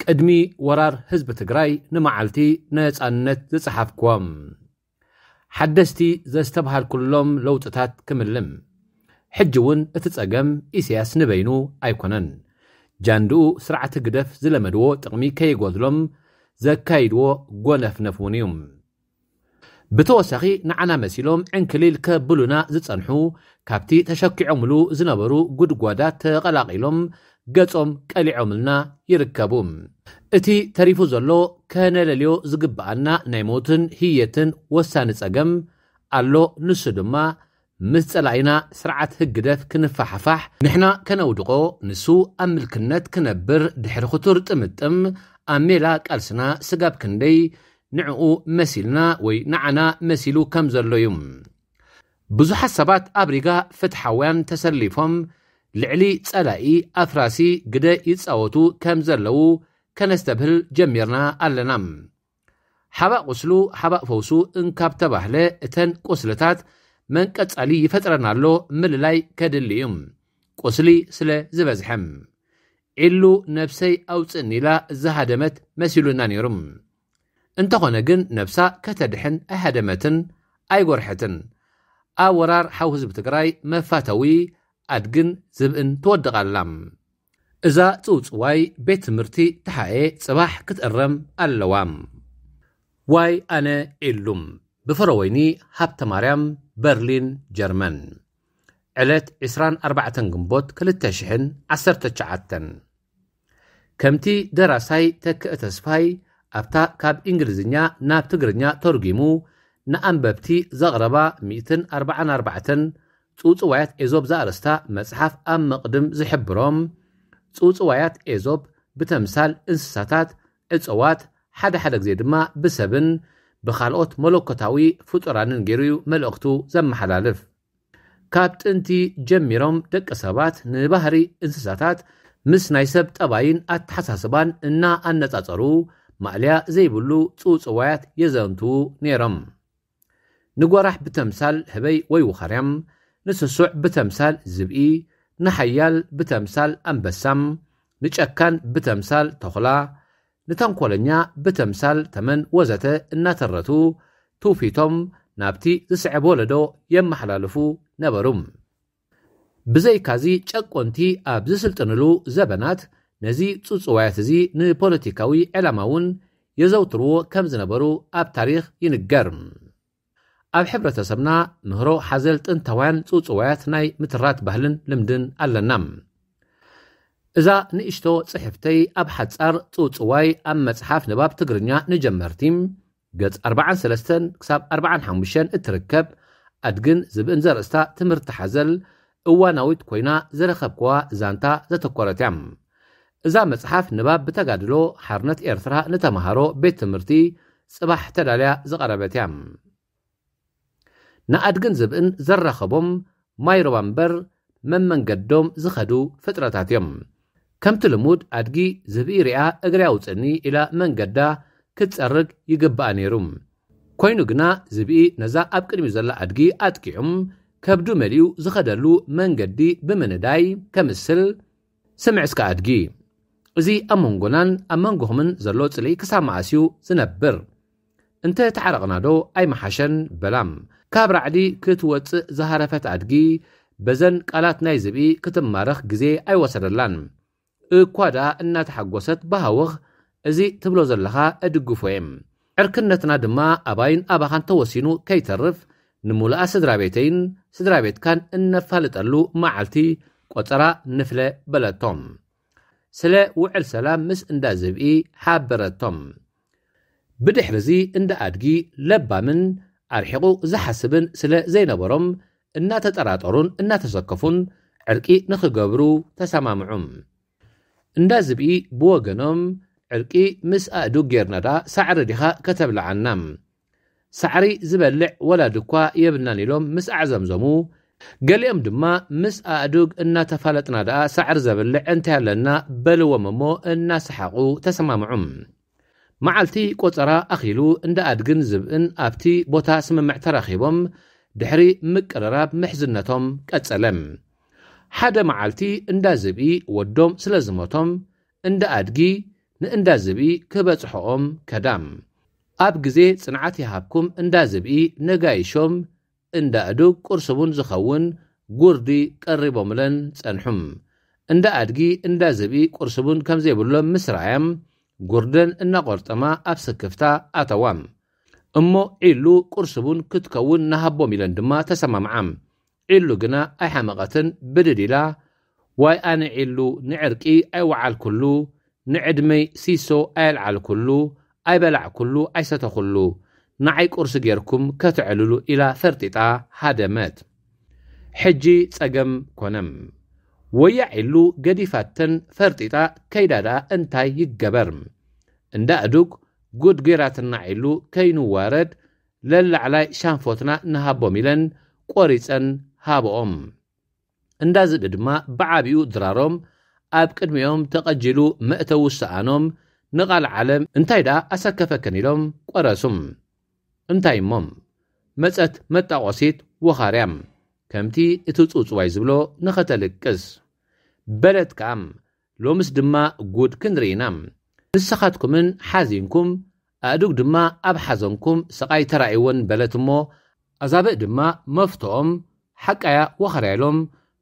ቅድሚ ወራር ህዝቢ ትግራይ ንመዓልቲ ነፃነት ዝፀሓፍክዎም ሓደስቲ ዘስተብሃልኩሎም ለውጥታት ክምልም። ሕጂ እውን እቲ ፀገም ኢሳያስ ንበይኑ ኣይኮነን። ጃንድኡ ስርዓት ህግደፍ ዝለመድዎ ጥቕሚ ከይጎድሎም ዘካይድዎ ጎነፍነፍ እውን እዩ። ብተወሳኺ ንዓና መሲሎም ዕንክሊል ከብሉና ዝጸንሑ፣ ካብቲ ተሸኪዖምሉ ዝነበሩ ጉድጓዳት ተቐላቒሎም ገጾም ቀሊዖምልና ይርከቡ። እቲ ተሪፉ ዘሎ ከነለልዮ ዝግብኣና ናይ ሞትን ህየትን ወሳኒ ጸገም ኣሎ። ንሱ ድማ ምስ ጸላኢና ስርዓት ህግደፍ ክንፈሓፋሕ፣ ንሕና ከነውድቖ፣ ንሱ ኣብ ምልክነት ክነብር ድሕሪ ክቱር ጥምጥም ኣብ ሜላ ቃልስና ስጋብ ክንደይ ንዕኡ መሲልና ወይ ንዓና መሲሉ ከም ዘሎ እዩ። ብዙሓት ሰባት ኣብ ሪጋ ፍትሓውያን ተሰሊፎም ልዕሊ ጸላኢ ኣፍራሲ ግደ ይጻወቱ ከም ዘለዉ ከነስተብህል ጀሚርና ኣለና። ሓባእ ቁስሉ ሓባእ ፈውሱ እንካብ ተባህለ፣ እተን ቁስልታት መን ቀጻሊ ይፈጥረን ኣሎ ምልላይ ከድሊ እዩ። ቁስሊ ስለ ዝበዝሐ። ዒሉ ነብሰይ ኣውጽእኒ ኢላ ዝሃደመት መሲሉና ነይሩ። እንተኾነ ግን ነብሳ ከተድሕን ኣይሃደመትን ኣይጎርሐትን። ኣብ ወራር ሓው ህዝቢ ትግራይ መፋተዊ ኣድግን ዝብእን ትወድቕ ኣላ። እዛ ጽውጽዋይ ቤት ትምህርቲ ተሓኤ ጽባሕ ክትእረም ኣለዋ። ዋይ ኣነ ኢሉም ብፍረወይኒ ሃብተ ማርያም በርሊን ጀርመን። ዕለት ዕስራን ኣርባዕተን ግንቦት ክልተ ሽሕን ዓሰርተ ትሽዓተን። ከምቲ ደራሳይ ተክእ ተስፋይ ኣብታ ካብ እንግሊዝኛ ናብ ትግርኛ ተርጒሙ ንኣንበብቲ ዘቕረባ ሚእትን ኣርባዓን ኣርባዕተን ጽውጽዋያት ኤዞብ ዘኣርእስታ መጽሓፍ ኣብ መቕድም ዝሕብሮም፣ ጽውጽዋያት ኤዞብ ብተምሳል እንስሳታት፣ እጽዋት፣ ሓደ ሓደ ግዜ ድማ ብሰብን ብኻልኦት መለኮታዊ ፍጡራንን ገይሩ እዩ መልእኽቱ ዘመሓላልፍ። ካብ ጥንቲ ጀሚሮም ደቂ ሰባት ንባህሪ እንስሳታት ምስ ናይ ሰብ ጠባይን ኣተሓሳስባን እናኣነጻጸሩ ማእለያ ዘይብሉ ጽውጽዋያት የዘንትዉ ነይሮም። ንጎራሕ ብተምሳል ህበይ ወይ ውኻርያም፣ ንስሱዕ ብተምሳል ዝብኢ፣ ንሓያል ብተምሳል ኣንበሳም፣ ንጨካን ብተምሳል ተኹላ፣ ንተንኮለኛ ብተምሳል ተመን ወዘተ እናተረቱ ትውፊቶም ናብቲ ዝስዕብ ወለዶ የመሓላልፉ ነበሩ። ብዘይካዚ ጨቆንቲ ኣብ ዝስልጥንሉ ዘበናት ነዚ ጽውጽዋያት እዚ ንፖለቲካዊ ዕላማ እውን የዘውትርዎ ከም ዝነበሩ ኣብ ታሪኽ ይንገር። ኣብ ሕብረተሰብና ምህሮ ሓዘል ጥንታውያን ጽውጽዋያት ናይ ምትራት ባህልን ልምድን ኣለና። እዛ ንእሽቶ ጽሕፍተይ ኣብ ሓጻር ጽውጽዋይ ኣብ መጽሓፍ ንባብ ትግርኛ ንጀመርቲ ገጽ ኣርባዓን ሰለስተን ክሳብ ኣርባዓን ሓሙሽተን እትርከብ ኣድግን ዝብእን ዘርእስታ ትምህርቲ ሓዘል እዋናዊት ኮይና ዝረኸብክዋ ዛንታ ዘተኮረት እያ። እዛ መጽሓፍ ንባብ ብተጋድሎ ሓርነት ኤርትራ ንተምሃሮ ቤት ትምህርቲ ጽባሕ ተዳልያ ዝቐረበት እያ። ንኣድግን ዝብእን ዘራኸቦም ማይ ሩባ እምበር መመንገዶም ዝኸዱ ፍጥረታት እዮም። ከምቲ ልሙድ ኣድጊ ዝብኢ ሪኣ እግሪ ኣውፅእኒ ኢላ መንገዳ ክትፀርግ ይግብኣ ነይሩ። ኮይኑ ግና ዝብኢ ነዛ ኣብ ቅድሚኡ ዘላ ኣድጊ ኣጥቂዑም ከብዱ መሊኡ ዝኸደሉ መንገዲ ብምንዳይ ከምስል፣ ስምዕ እስከ ኣድጊ፣ እዚ ኣብ መንጎናን ኣብ መንጎኹምን ዘሎ ጽልኢ ክሳብ መኣስ እዩ ዝነብር? እንተ ተዓረቕናዶ ኣይመሓሸን? በላ። ካብ ራዕዲ ክትወጽእ ዝሃረፈት ኣድጊ በዘን ቃላት ናይ ዝብኢ ክትማረኽ ግዜ ኣይወሰደላን። እኳ ደኣ እናተሓጎሰት ብሃወኽ፣ እዚ ትብሎ ዘለኻ እድግፎ እየ። ዕርክነትና ድማ ኣባይን ኣባኻን ተወሲኑ ከይተርፍ፣ ንምሉኣ ስድራ ቤተይን ስድራ ቤትካን እነፋልጠሉ መዓልቲ ቆጸራ ንፍለ በለቶም። ስለ ውዕል ሰላም ምስ እንዳ ዝብኢ ሓበረቶም። ብድሕርዚ እንዳ ኣድጊ ለባምን ኣርሒቑ ዝሓስብን ስለ ዘይነበሮም፣ እናተጠራጠሩን እናተሰከፉን ዕርቂ ንኽገብሩ ተሰማምዑ። እንዳ ዝብኢ ብወገኖም፣ ዕርቂ ምስ ኣእዱግ ጌርና ደኣ ሳዕሪ ዲኻ ከተብልዓና? ሳዕሪ ዝበልዕ ወላዲ እኳ የብልናን ኢሎም ምስ ኣዕዘምዘሙ፣ ገሊኦም ድማ ምስ ኣእዱግ እናተፋለጥና ደኣ ሳዕሪ ዘብልዕ እንታይ ኣለና በልዎም እሞ እናሰሓቑ ተሰማምዑ። መዓልቲ ቆጸራ ኣኺሉ እንዳ ኣድግን ዝብእን ኣብቲ ቦታ ስምምዕ ተራኺቦም ድሕሪ ምቅርራብ ምሕዝነቶም ቀጸለ። ሓደ መዓልቲ እንዳ ዝብኢ ወዶም ስለ ዝሞቶም እንዳ ኣድጊ ንእንዳ ዝብኢ ክበጽሖኦም ከዳም። ኣብ ግዜ ጽንዓት ይሃብኩም እንዳ ዝብኢ ነጋይሾም እንዳ ኣእዱግ ቁርሲ ቡን ዝኸውን ጉርዲ ቀሪቦምለን ጸንሑም። እንዳ ኣድጊ እንዳ ዝብኢ ቁርሲ ቡን ከም ዘይብሎም ምስ ረኣያም ጉርደን እናቖርጠማ ኣብ ስክፍታ ኣተዋ። እሞ ዒሉ ቁርሲ ቡን ክትከውን ንሃቦም ኢለን ድማ ተሰማምዓ። ዒሉ ግና ኣይሓመቐትን ብድድ ኢላ ዋይ ኣነ ዒሉ ንዕርቂ ኣይወዓልኩሉ ንዕድመይ ሲሶ ኣየልዓልኩሉ ኣይበላዕኩሉ ኣይሰተኹሉ ንዓይ ቁርሲ ጌርኩም ከተዕልሉ ኢላ ፈርጢጣ ሃደመት። ሕጂ ጸገም ኮነም። ወያ ዒሉ ገዲፋተን ፈርጢጣ ከይዳ ደኣ እንታይ ይገበር? እንዳ ኣእዱግ ጉድ ጌራትና ዒሉ ከይንዋረድ ለላዕላይ ሻንፎትና ንሃቦም ኢለን ቆሪጸን ሃብኦም። እንዳ ዝብኢ ድማ ብዓቢኡ ድራሮም ኣብ ቅድሚኦም ተቐጂሉ መእተዊ ሰኣኖም ንቓል ዓለም እንታይ ደኣ ኣሰከፈክን ኢሎም ቆረሱም። እንታይ እሞም መጸት መጣቖሲት ወኻርያም ከምቲ እቲ ጽውጽዋይ ዝብሎ ንኸተልቅስ በለት ከኣም ሎምስ ድማ ጉድ ክንርኢ ኢና። ንስኻትኩምን ሓዚንኩም ኣእዱግ ድማ ኣብ ሓዘንኩም ስቓይ ተራእይወን በለት እሞ ኣዛብእ ድማ መፍትኦም ሓቃያ ወኸርያ ኢሎም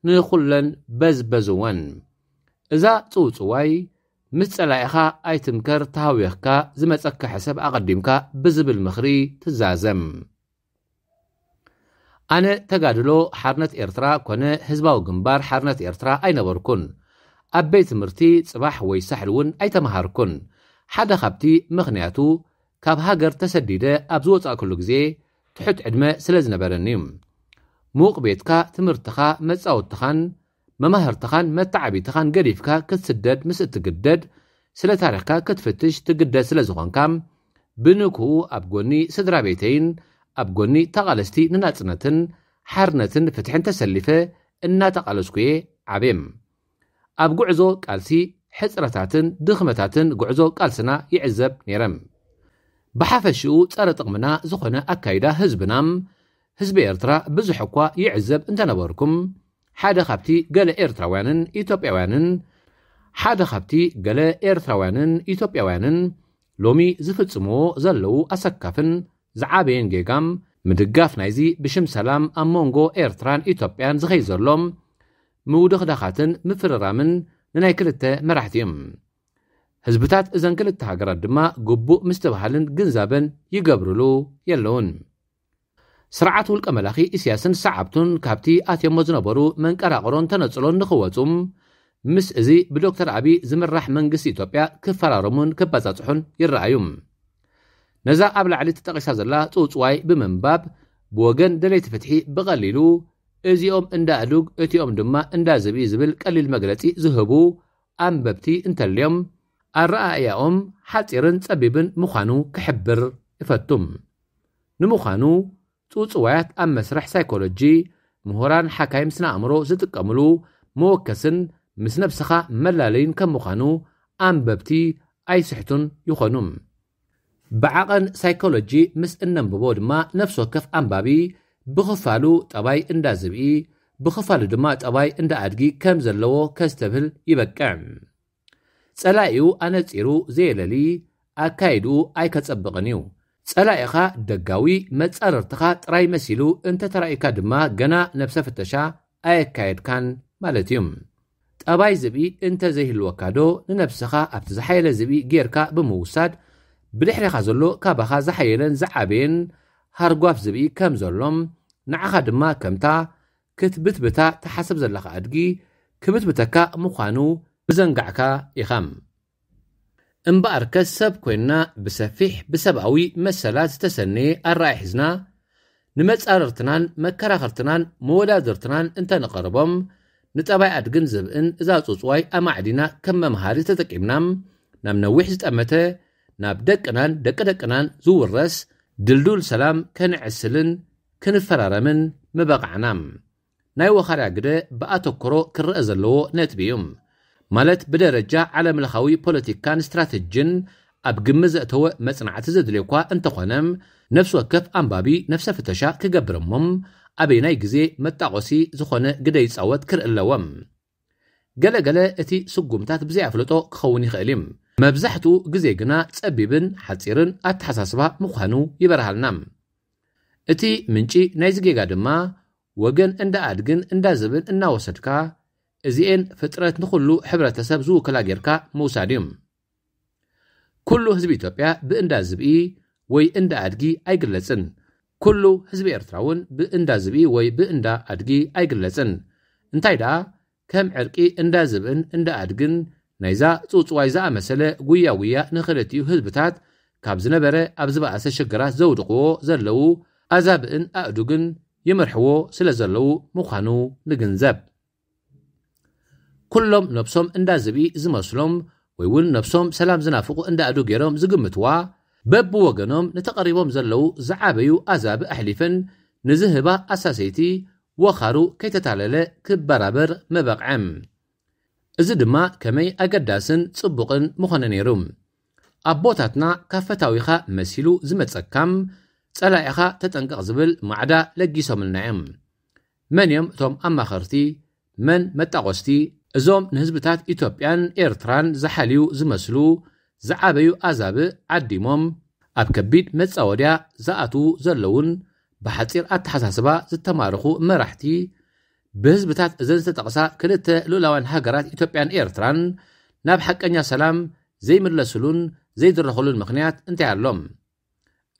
ንኹለን በዝበዝወን። እዛ ጽውጽዋይ ምስ ጸላኢኻ ኣይትምከር ተሃዊኽካ ዝመጸካ ሕሰብ ኣቐዲምካ ብዝብል ምኽሪ ትዛዘም። ኣነ ተጋድሎ ሓርነት ኤርትራ ኮነ ህዝባዊ ግንባር ሓርነት ኤርትራ ኣይነበርኩን። ኣብ ቤት ትምህርቲ ጽባሕ ወይ ሳሕል እውን ኣይተመሃርኩን። ሓደ ካብቲ ምኽንያቱ ካብ ሃገር ተሰዲደ ኣብ ዝወጻእኩሉ ግዜ ትሑት ዕድመ ስለ ዝነበረኒ እዩ። ምዉቕ ቤትካ ትምህርትኻ መጻወትኻን መማህርትኻን መተዓቢትኻን ገዲፍካ ክትስደድ ምስ እትግደድ ስለ ታሪኽካ ክትፍትሽ ትግደድ ስለ ዝኾንካ ብንክኡ ኣብ ጎኒ ስድራ ቤተይን ኣብ ጎኒ ተቓለስቲ ንናጽነትን ሓርነትን ፍትሕን ተሰሊፈ እናተቓለስኩ እየ ዓብየ። ኣብ ጉዕዞ ቃልሲ ሕጽረታትን ድኽመታትን ጉዕዞ ቃልስና ይዕዘብ ነይረ። ብሓፈሽኡ ጸረ ጥቕምና ዝኾነ ኣካይዳ ህዝብና ህዝቢ ኤርትራ ብዙሕ እኳ ይዕዘብ እንተነበርኩም ሓደ ካብቲ ገለ ኤርትራውያንን ኢትዮጵያውያንን ሓደ ካብቲ ገለ ኤርትራውያንን ኢትዮጵያውያንን ሎሚ ዝፍጽምዎ ዘለዉ ኣሰካፍን ዝዓበየን ጌጋም ምድጋፍ ናይዚ ብሽም ሰላም ኣብ መንጎ ኤርትራን ኢትዮጵያን ዝኸይ ዘሎ ምውድኽዳኻትን ምፍርራምን ንናይ ክልተ መራሕቲ እዮም። ህዝብታት እዘን ክልተ ሃገራት ድማ ግቡእ ምስትብሃልን ግንዛበን ይገብርሉ የለውን። ስርዓት ውልቀ መላኺ ኢሳያስን ሰዓብቱን ካብቲ ኣትዮሞ ዝነበሩ መንቀራቕሮን ተነጽሎን ንኽወጹ ምስ እዚ ብዶክተር ኣቢ ዝምራሕ መንግስቲ ኢትዮጵያ ክፈራረሙን ክበጻጽሑን ይረኣዩ። ነዛ ኣብ ላዕሊ ተጠቒሳ ዘላ ጽውጽዋይ ብምንባብ ብወገን ደለይቲ ፍትሒ ብቐሊሉ እዚኦም እንዳ ኣእዱግ እቲኦም ድማ እንዳ ዝብኢ ዝብል ቀሊል መግለጺ ዝህቡ ኣንበብቲ እንተልዮም ኣረኣእያኦም ሓጺርን ጸቢብን ምዃኑ ክሕብር እፈቱም። ንምዃኑ ጽውጽዋያት ኣብ መስርሕ ሳይኮሎጂ ምሁራን ሓካይም ስነ ኣእምሮ ዝጥቀምሉ መወከስን ምስ ነብስኻ መላለይን ከም ምዃኑ ኣንበብቲ ኣይስሕቱን ይኾኑ። ብዓቐን ሳይኮሎጂ ምስ እነንብቦ ድማ ነፍሲ ወከፍ ኣንባቢ ብኽፋሉ ጠባይ እንዳ ዝብኢ ብኽፋሉ ድማ ጠባይ እንዳ ኣድጊ ከም ዘለዎ ከስተብህል ይበቅዕ። ጸላኢኡ ኣነጺሩ ዘየለሊ ኣካይድኡ ኣይከጸብቕን እዩ። ጸላኢኻ ደጋዊ መጻርርትኻ ጥራይ መሲሉ እንተ ተራእዩካ ድማ ገና ነብሰ ፍተሻ ኣየካየድካን ማለት እዩ። ጠባይ ዝብኢ እንተ ዘይህልወካ ዶ ንነብስኻ ኣብቲ ዝሓየለ ዝብኢ ጌርካ ብምውሳድ ብድሕሬኻ ዘሎ ካባኻ ዝሓየለን ዝዓበየን ሃርጓፍ ዝብኢ ከም ዘሎም ንዓኻ ድማ ከምታ ክትብትብታ ትሓስብ ዘለኻ ኣድጊ ክብትብተካ ምዃኑ ምዘንጋዕካ ኢኻ። እምበኣርከስ ሰብ ኮይንና ብሰፊሕ ብሰብኣዊ መሰላት ዝተሰነየ ኣረኣእያ ሒዝና ንመጻርርትናን መከራኸርትናን መወዳድርትናን እንተንቐርቦም ንጠባይ ኣድግን ዝብእን እዛ ጽውጽዋይ ኣማዕዲና ከም መምሃሪ ተጠቂምና ናብ ነዊሕ ዝጠመተ ናብ ደቅናን ደቂ ደቅናን ዝውረስ ድልዱል ሰላም ከነዕስልን ክንፈራረምን ምበቓዕና። ናይ ወኻርያ ግደ ብኣተኩሮ ክረኣ ዘለዎ ነጥቢ እዩ። ማለት ብደረጃ ዓለምለኻዊ ፖለቲካን ስትራተጂን ኣብ ግምት ዘእተወ መጽናዕቲ ዘድልዮ እኳ እንተኾነ፣ ነፍሲ ወከፍ ኣንባቢ ነፍሰ ፍተሻ ክገብር እሞ ኣበየናይ ግዜ መጣቖሲ ዝኾነ ግደ ይጻወት ክርኢ ኣለዎ። ገለ ገለ እቲ ስጉምታት ብዘይ ኣፍልጦ ክኸውን ይኽእል እዩ። መብዛሕትኡ ግዜ ግና ጸቢብን ሓጺርን ኣተሓሳስባ ምዃኑ ይበርሃልና። እቲ ምንጪ ናይዚ ጌጋ ድማ ወገን እንዳ ኣድግን እንዳ ዝብን እናወሰድካ፣ እዚኤን ፍጥረት ንኹሉ ሕብረተሰብ ዝውክላ ጌርካ ምውሳድ እዩ። ኩሉ ህዝቢ ኢትዮጵያ ብእንዳ ዝብኢ ወይ እንዳ ኣድጊ ኣይግለጽን። ኩሉ ህዝቢ ኤርትራ እውን ብእንዳ ዝብኢ ወይ ብእንዳ ኣድጊ ኣይግለጽን። እንታይ ደኣ ከም ዕርቂ እንዳ ዝብእን እንዳ ኣድግን ናይዛ ጽውጽዋይ ዝኣመሰለ ጉያ ጉያ ንኽልቲኡ ህዝብታት ካብ ዝነበረ ኣብ ዝበኣሰ ሽግራት ዘውድቕዎ ዘለዉ ኣዛብእን ኣእዱግን ይመርሕዎ ስለ ዘለዉ ምዃኑ ንግንዘብ። ኩሎም ነብሶም እንዳ ዝብኢ ዝመስሎም ወይ እውን ነብሶም ሰላም ዝናፍቑ እንዳ ኣእዱግ ገይሮም ዝግምትዋ፣ በብወገኖም ንተቐሪቦም ዘለዉ ዝዓበዩ ኣዛብእ ኣሕሊፈን ንዝህባ ኣሳሰይቲ ወኻሩ ከይተታለለ ክበራበር ምበቕዐ። እዚ ድማ ከመይ ኣገዳስን ጽቡቕን ምኾነ ነይሩ። ኣቦታትና ካብ ፈታዊኻ መሲሉ ዝመጸካም ጸላኢኻ ተጠንቀቕ ዝብል ማዕዳ ለጊሶምልና እዮም። መን እዮም እቶም ኣማኸርቲ? መን መጣቖስቲ? እዞም ንህዝብታት ኢትዮጵያን ኤርትራን ዝሓልዩ ዝመስሉ ዝዓበዩ ኣዛብእ ዓዲሞም ኣብ ከቢድ መጻወድያ ዝኣትዉ ዘለዉን ብሓጺር ኣተሓሳስባ ዝተማረኹ መራሕቲ ብህዝብታት እዘን ዝተጠቕሳ ክልተ ልኡላውያን ሃገራት ኢትዮጵያን ኤርትራን ናብ ሓቀኛ ሰላም ዘይምለስሉን ዘይድረኽሉን ምኽንያት እንታይ ኣሎ?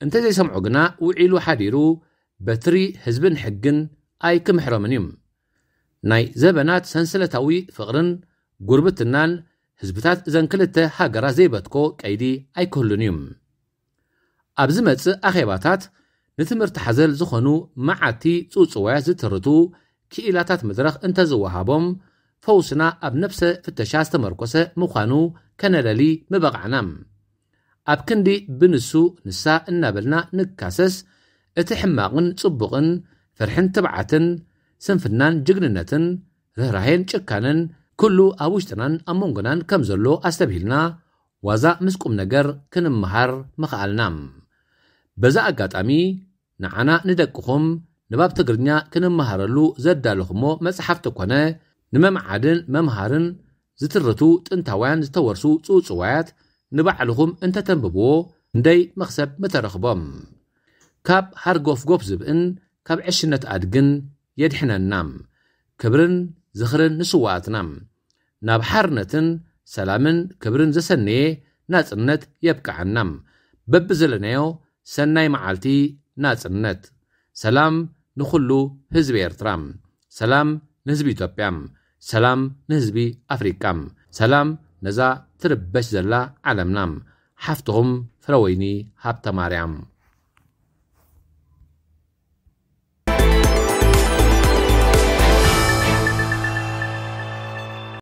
እንተዘይሰምዑ ግና ውዒሉ ሓዲሩ በትሪ ህዝብን ሕግን ኣይክምሕሮምን እዩ። ናይ ዘበናት ሰንሰለታዊ ፍቕርን ጉርብትናን ህዝብታት እዘን ክልተ ሃገራት ዘይበትኮ ቀይዲ ኣይክህሉን እዩ። ኣብ ዝመጽእ ኣኼባታት ንትምህርቲ ሓዘል ዝኾኑ መዓቲ ጽውጽዋያት ዝትርቱ ክኢላታት መድረኽ እንተዝወሃቦም፣ ፈውስና ኣብ ነብሰ ፍተሻ ዝተመርኮሰ ምዃኑ ከነለሊ ምበቓዕና። ኣብ ክንዲ ብንሱ ንሳ እናበልና ንካሰስ፣ እቲ ሕማቕን ጽቡቕን፣ ፍርሕን ትብዓትን፣ ስንፍናን ጅግንነትን፣ ርህራሄን ጭካነን፣ ኩሉ ኣብ ውሽጥናን ኣብ መንጎናን ከም ዘሎ ኣስተብሂልና፣ ዋዛ ምስ ቁም ነገር ክንመሃር ምኽኣልና። በዛ ኣጋጣሚ፣ ንዓና ንደቅኹም ንባብ ትግርኛ ክንመሃረሉ ዘዳለኹሞ መጽሓፍቲ ኮነ፣ ንመምዓድን መምሃርን ዝትርቱ ጥንታውያን ዝተወርሱ ጽውጽዋያት ንባዕልኹም እንተተንብብዎ፣ እንደይ መኽሰብ ምተረኽቦም። ካብ ሃርጎፍጎፍ ዝብእን ካብ ዕሽነት ኣድግን የድሕነና። ክብርን ዝኽርን ንስዋኣትና። ናብ ሓርነትን ሰላምን ክብርን ዘሰነየ ናጽነት የብቅዓና። በብዘለናዮ ሰናይ መዓልቲ ናጽነት። ሰላም ንኹሉ ህዝቢ ኤርትራ። ሰላም ንህዝቢ ኢትዮጵያ። ሰላም ንህዝቢ ኣፍሪቃ። ሰላም ነዛ ትርበሽ ዘላ ዓለምና። ሓፍትኹም ፍረወይኒ ሃብተማርያም።